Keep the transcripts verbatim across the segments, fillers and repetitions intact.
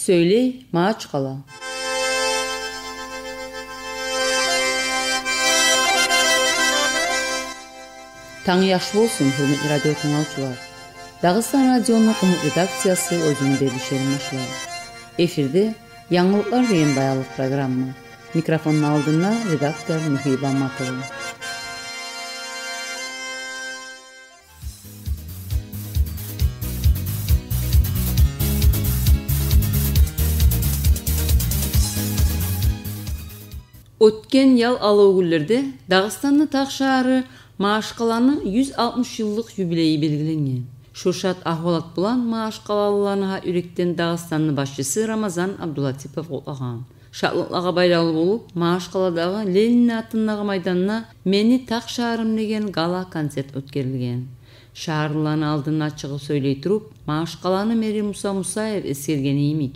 Сёйлей Магьачкъала. Танг яхшы болсун, гьюрметли радио тынглавчулар. Дагъыстан радиону къумукъ редакциясы оьзюню берилишин башлай. Эфирде «Янгылыкълар» деген баянлыкъ программа. Микрофонну алдында редактор Михаил Баматов. Оьтген ял алав гюнлерде Дагъыстанны тахшагьары Магьачкъаланы юз алтмыш йыллыкъ юбилейи белгиленген. Шо шат агьвалат булан магьачкъалалыланы гьакъ юрекден Дагъыстанны башчысы Рамазан Абдулатипов къутлагъан. Шатлыкълагъа байлавлу болуп, Магьачкъаладагъы Ленинни атындагъы майданда «Мени тахшагьарым» деген гала-концерт оьтгерилген. Шагьарлыланы алдына чыгъып сёйлей туруп, Магьачкъаланы мэри Муса Мусаев эсгерген йимик,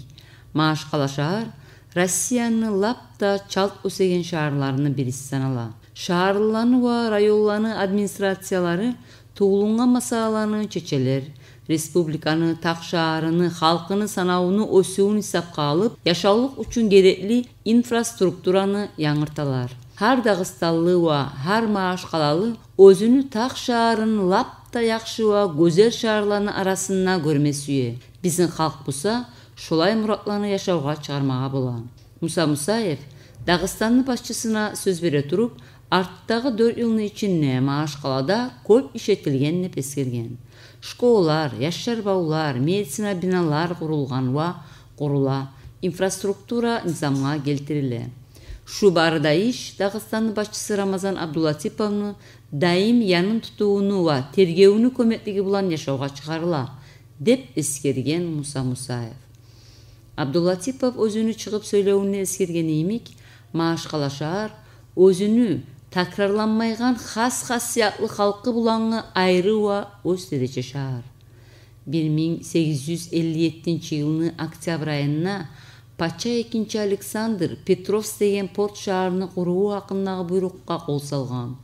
Магьачкъала шагьар Россияны лап да чалт оьсеген шагьарларыны бириси санала. Шагьарлыланы ва районланы администрациялары тувулунгъан масъалаланы чечелер, республиканы, тахшагьарыны, халкъыны санавуну оьсювюн гьисапгъа алып, яшавлукъ учун герекли инфраструктураны янгырталар. Гьар дагъыстанлы ва гьар магьачкъалалы оьзюню тахшагьарын лап да яхшы ва гёзел шагьарланы арасында гёрме сюе. Бизин халкъ буса шолай муратланы яшавгъа чыгъармагъа бола. Муса Мусаев Дагъыстанны башчысына сёз бере туруп, артдагъы дёрт йылны ичинде Магьачкъалада кёп иш этилген деп эсгерген. Школалар, яшлар бавлар, медицина биналар къурулгъан ва къурула, инфраструктура низамгъа гелтириле. Шу бары да иш Дагъыстанны башчысы Рамазан Абдулатиповну даим янын тутувуну ва тергевюню кёмеклиги булан яшавгъа чыгъарыла, деп эсгерген Муса Мусаев. Абдулатипов оьзюню чыгъып сёйлевюнде эсгерген йимик, Магьачкъала шагьар оьзюню такрарланмайгъан хас хасиятлы халкъы булангъы айры ва оьз терече шагьар. Бир минг сегиз юз элли еттинчи йылны октябрь айында пача экинчи Александр Петровск деген порт шагьарны къуруву гьакъындагъы буйрукъгъа къол салгъан.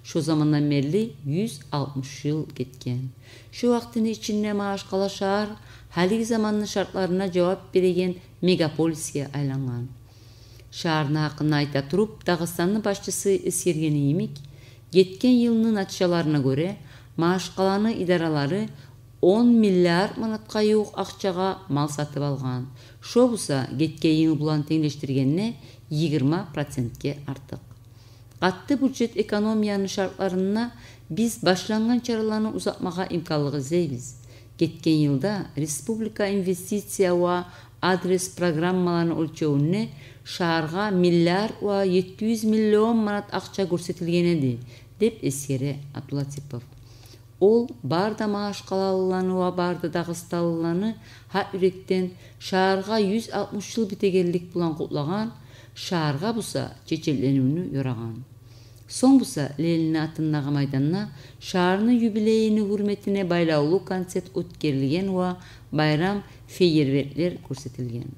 Шо замандан берли юз алтмыш йыл гетген. Шо вакътини ичинде Магьачкъала шагьар гьалиги заманны шартларына жавап береген мегаполисге айлангъан. Шагьарны гьакъында айта туруп, Дагъыстанны башчысы эсгерген йимик, гетген йылны натижаларына гёре, Магьачкъаланы идаралары он миллиард манатгъа ювукъ акъчагъа мал сатып алгъан. Шо буса гетген йыл булан тенглешдиргенде йигирма процентге артыкъ. Къатты бюджет экономияны шартларында биз башлангъан чараланы узатмагъа имканлыкъ излейбиз. Гетген йылда республика инвестиция ва адрес программаланы оьлчевюнде шагьаргъа миллиард ва етти юз миллион манат акъча гёрсетилген эди, деп эсгере Абдулатипов. Ол бары да магьачкъалалыланы ва бары да дагъыстанлыланы гьакъ юрекден шагьаргъа юз алтмыш йыл битегенлик булан къутлагъан, шагьаргъа буса чечекленивню ёрагъан. Сонг буса Ленинни атындагъы майданда шагьарны юбилейини гьюрметине байлавлу концерт оьтгерилген ва байрам фейерверклер гёрсетилген.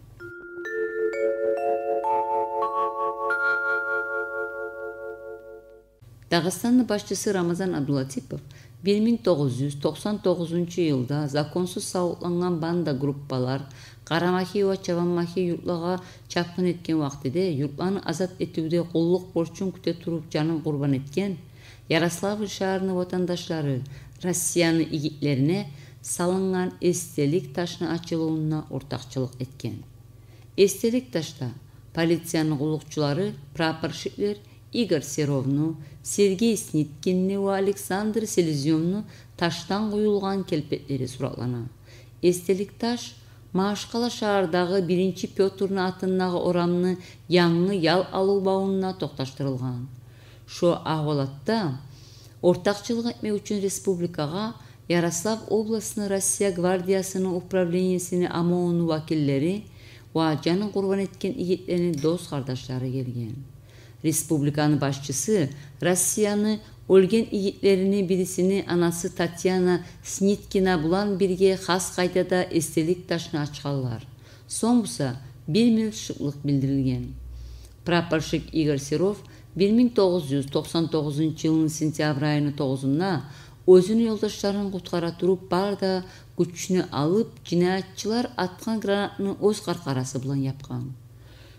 Дагъыстанны башчысы Рамазан Абдулатипов бир минг тогъуз юз токъсан тогъузунчу йылда законсуз савутлангъан банда группалар Къарамахи ва Чабанмахи юртлагъа чапгъын этген вакътиде юртланы азат этивде къуллукъ борчун кюте туруп жанын къурбан этген Ярославль шагьарны ватандашлары Россияны игитлерине салынгъан эсделик ташны ачылывунда ортакъчылыкъ этген. Эсделик ташда полицияны къуллукъчулары, прапорщиклер Игорь Серовну, Сергей Сниткинни ва Александр Селезнёвну ташдан къуюлгъан келпетлери суратлана. Эсделик таш Магьачкъала шагьардагъы биринчи Пётрну атындагъы орамны янгы ял алыв бавунда токъташдырылгъан. Шо агьвалатда ортакъчылыкъ этмек учун республикагъа Ярослав областны Россия гвардиясыны управлениесини ОМОНуну вакиллери ва жанын къурбан этген игитлени дос-къардашлары гелген. Республиканы башчысы Россияны оьлген игитлерини бирисини анасы Татьяна Сниткина булан бирге хас къайдада эсделик ташны ачгъанлар. Сонг буса бир минут шыклыкъ билдирилген. Прапорщик Игорь Серов бир минг тогъуз юз токъсан тогъузунчу йылны сентябрь айыны тогъузунда оьзюню ёлдашларын къутгъара туруп, бары да гючню алып, жинаятчылар атгъан гранатны оьз къаркъарасы булан япгъан.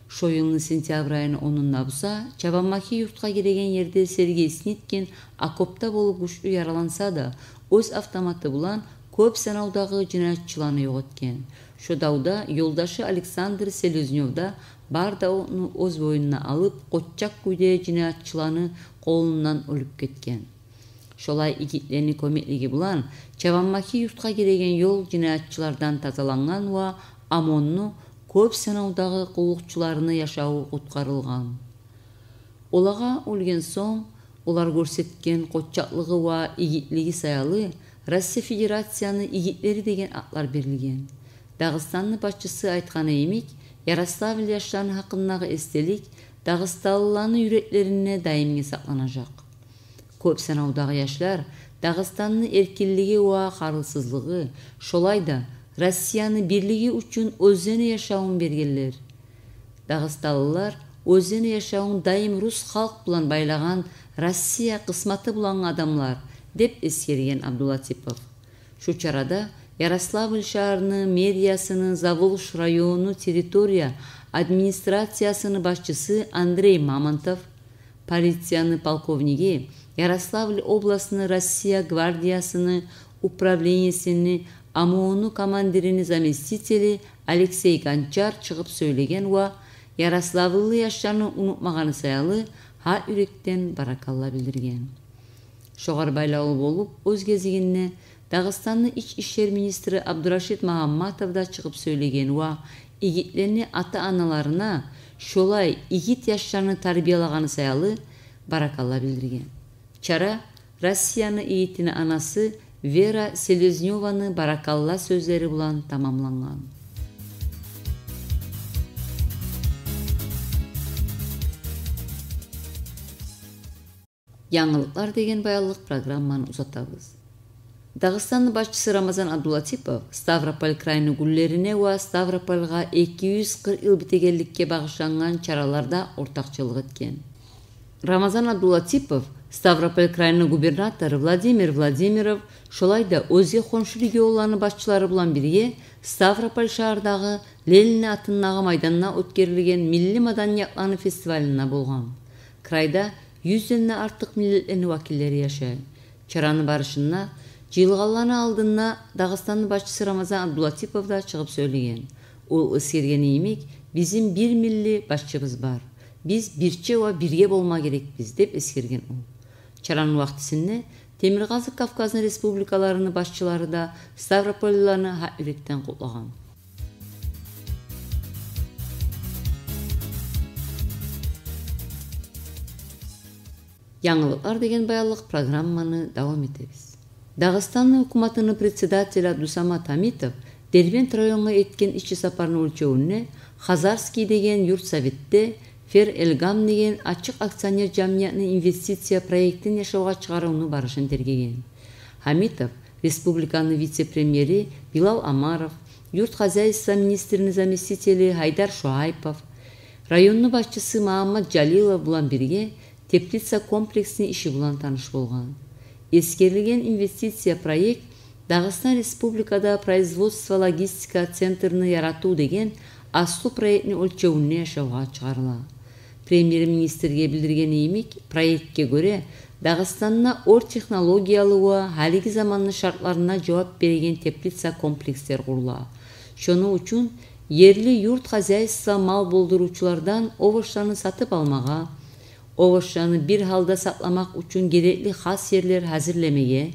Шо йылны сентябрь айыны онунда буса, Чабанмахи юртгъа гиреген ерде Сергей Сниткин окопда болуп гючлю яраланса да, оьз автоматы булан кёп санавдагъы жинаятчыланы ёкъ этген. Шо давда ёлдашы Александр Селезнёв да бар давну оьз бойнуна алып, къоччакъ кюйде жинаятчыланы къолундан оьлюп гетген. Шолай игитлени кёмеклиги булан Чабанмахи юртгъа гиреген ёл жинаятчылардан тазалангъан ва ОМОНну кёп санавдагъы къуллукъчуларыны яшаву къутгъарылгъан. Олагъа оьлген сонг, олар гёрсетген къоччакълыгъы ва игитлиги саялы Россия Федерацияны игитлери деген атлар берилген. Дагъыстанны башчысы айтгъаны йимик, Ярославль яшланы гьакъындагъы эсделик дагъыстанлыланы юреклеринде даимге сакъланажакъ. Кёп санавдагъы яшлар Дагъыстанны эркинлиги ва къарусузлугъу, шолай да Россияны бирлиги учун оьзлени яшавун бергенлер. Дагъыстанлылар оьзлени яшавун даим рус халкъ булан байлагъан Россия къысматы булангъы адамлар, деп эсгерген Абдулатипов. Шу чарада Ярославль шагьарны мэриясыны Заволжск районну территория администрациясыны башчысы Андрей Мамонтов, полицияны полковниги, Ярославль областны Россия гвардиясыны управлениесини ОМОНну командирини заместители Алексей Гончар чыгъып сёйлеген ва ярославльлы яшланы унутмагъаны саялы гьакъ юрекден баракалла билдирген. Шогъар байлавлу болуп, оьз гезигинде Дагъыстанны ич ишлер министри Абдурашид Магьамматов да чыгъып сёйлеген ва игитлени ата-аналарына шолай игит яшланы тарбиялагъаны саялы баракалла билдирген. Чара Россияны игитини анасы Вера Селезнёваны баракалла сёзлери булан тамамлангъан. Янгылыкълар деген баянлыкъ программаны узатабыз. Дагъыстанны башчысы Рамазан Абдулатипов Ставрополь крайны гюнлерине ва Ставропольгъа эки юз къыркъ йыл битегенликге багъышлангъан чараларда ортакъчылыкъ этген. Рамазан Абдулатипов Ставрополь крайны губернатору Владимир Владимиров, шолай да оьзге хоншу регионланы башчылары булан бирге Ставрополь шагьардагъы Ленин атындагъы майданда оьтгерилген милли маданиятланы фестивалында болгъан. Крайда юзден де артыкъ миллетлени вакиллери яшай. Чараны барышында жыйылгъанланы алдында Дагъыстанны башчысы Рамазан Абдулатипов да чыгъып сёйлеген. Ол эсгергени йимик, бизин бир милли башчыбыз бар. Биз бирче ва бирге болма герекбиз, деп эсгерген ол. Чараны вакътисинде Темиркъазыкъ Кавказны республикаларыны башчылары да ставрополлыланы гьакъ юрекден къутлагъан. Янгылыкълар деген баянлыкъ программаны давам этебиз. Дагъыстанны гьукуматыны председатели Абдусамат Гьамитов Дербент районгъа этген ишчи сапарыны оьлчевюнде Хазарский деген юртсоветде Фер-Элгам деген ачыкъ акционер жамиятны инвестиция проектин яшавгъа чыгъарывну барышын тергеген. Гьамитов республиканы вице-премьери Билал Омаров, юрт хозяйство министрини заместители Гьайдар Шуайпов, районну башчысы Магьаммат Жалилов булан бирге теплица комплексни иши булан таныш болгъан. Эсгерилген инвестиция проект Дагъыстан Республикада производство-логистика центрни яратыв деген аслу проектни оьлчевюнде яшавгъа чыгъарыла. Премьер-министрге билдиргени йимик, проектге гёре, Дагъыстанда ор технологиялы ва гьалиги заманны шартларына жавап береген теплица комплекслер къурула. Шону учун ерли юрт хозяйство мал болдурувчулардан овощланы сатып алмагъа, овощланы бир гьалда сакъламакъ учун герекли хас ерлер гьазирлемеге,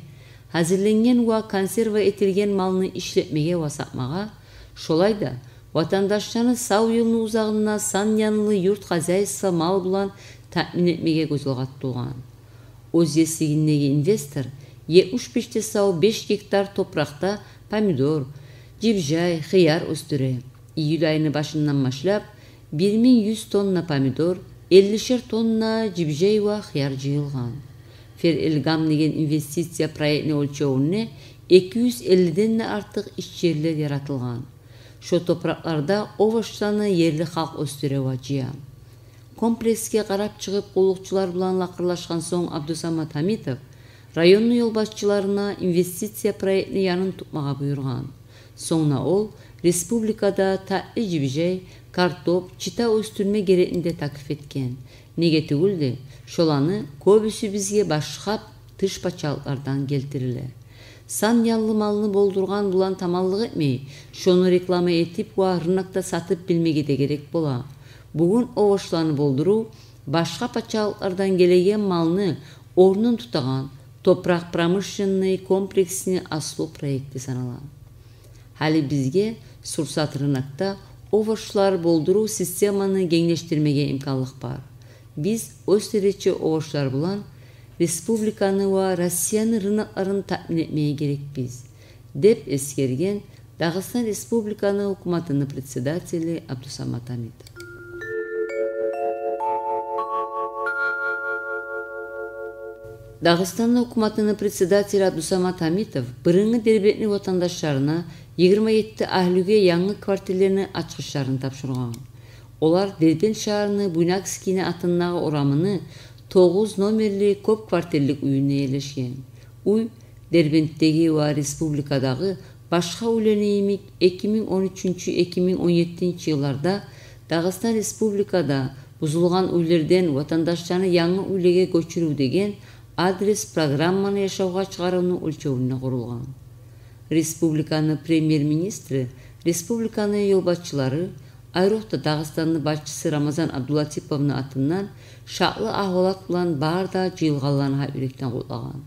гьазирленген ва консерва этилген малны ишлетмеге ва сатмагъа, шолай да ватандашланы сав йылны узагъында сан янлы юрт хозяйство мал булан таъмин этмеге гёз алгъа тутулгъан. Оьз еслигиндеги инвестор етмиш беш де сав беш гектар топуракъда помидор, жибжей, хыяр оьсдюре. Июль айыны башындан башлап бир минг юз тонна помидор, эллишер тонна жибжей ва хыяр жыйылгъан. Фер-Элгам деген инвестиция проектни оьлчевюнде эки юз эллиден де артыкъ иш ерлер яратылгъан. Шо топуракъларда овощланы ерли халкъ оьсдюре ва жыя. Комплексге къарап чыгъып, къуллукъчулар булан лакъырлашгъан сонг Абдусамат Гьамитов районну ёлбашчыларына инвестиция проектни янын тутмагъа буюргъан. Сонг да ол республикада татли жибижей, картоп, чита оьсдюрме герекни де таклиф этген. Неге тюгюл де, шоланы кёбюсю бизге башгъа тыш пачалыкълардан гелтириле. Сан яллы малны болдургъан булан таманлыкъ этмей, шону реклама этип ва рынокда сатып билмеге де герек бола. Бугюн овощланы болдурув башгъа пачалыкълардан гелеген малны орнун тутагъан топуракъ промышленный комплексни аслу проекти санала. Гьали бизге сурсат рынокда овощлар болдурув системаны генглешдирмеге имканлыкъ бар. Биз оьз теречи овощлар булан республиканы ва Россияны рынокларын таъмин этмеге герекбиз, деп эсгерген Дагъыстан Республиканы гьукуматыны председатели Абдусамат Гьамитов. Дагъыстанны гьукуматыны председатели Абдусамат Гьамитов бырынгы Дербентни ватандашларына, йигирма етти агьлюге янгы квартирлени ачгъычларын тапшургъан. Олар Дербент шагьарны Буйнакскийни атындагъы орамыны тогъуз номерли кёп квартирлик уьюнде ерлешген. Уьй Дербентдеги ва республикадагъы башгъа уьйлени йимик, эки минг он уьчюнчю, эки минг он еттинчи йылларда Дагъыстан Республикада бузулгъан уьйлерден ватандашланы янгы уьйлеге гёчюрюв деген адрес программаны яшавгъа чыгъарывну оьлчевюнде къурулгъан. Республиканы премьер-министри, республиканы ёлбашчылары, айрокъда Дагъыстанны башчысы Рамазан Абдулатиповну атындан шатлы агьвалат булан бары да жыйылгъанланы гьакъ юрекден къутлагъан.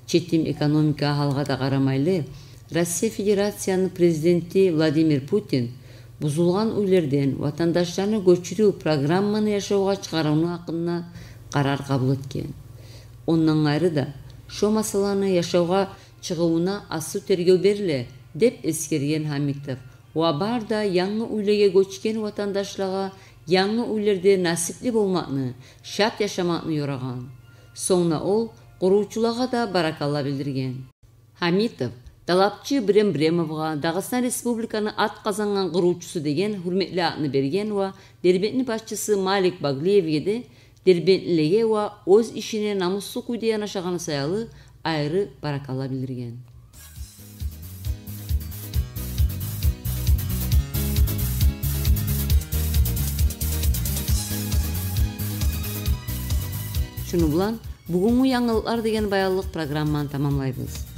Четим экономика гьалгъа да къарамайлы, Россия Федерацияны президенти Владимир Путин бузулгъан уьйлерден ватандашланы гёчюрюв программаны яшавгъа чыгъарывну гьакъында къарар къабул этген. Ондан къайры да, шо масъаланы яшавгъа чыгъывуна аслу тергев бериле, деп эсгерген Гьамитов, ва бары да янгы уьйлеге гёчген ватандашлагъа янгы уьйлерде насипли болмакъны, шат яшамакъны ёрагъан. Сонг да ол къурувчулагъа да баракалла билдирген. Гьамитов Талапчы Брембремовгъа, Дагъыстан Республиканы ат къазангъан къурувчусу деген гьюрметли атны берген ва Дербентни башчысы Малик Баглиевге де дербентлилиги ва оьз ишине намуслу кюйде янашагъаны саялы айры баракалла билдирген. Шуну булан «Бугюнгю янгылыкълар» деген баянлыкъ программаны тамамлайбыз.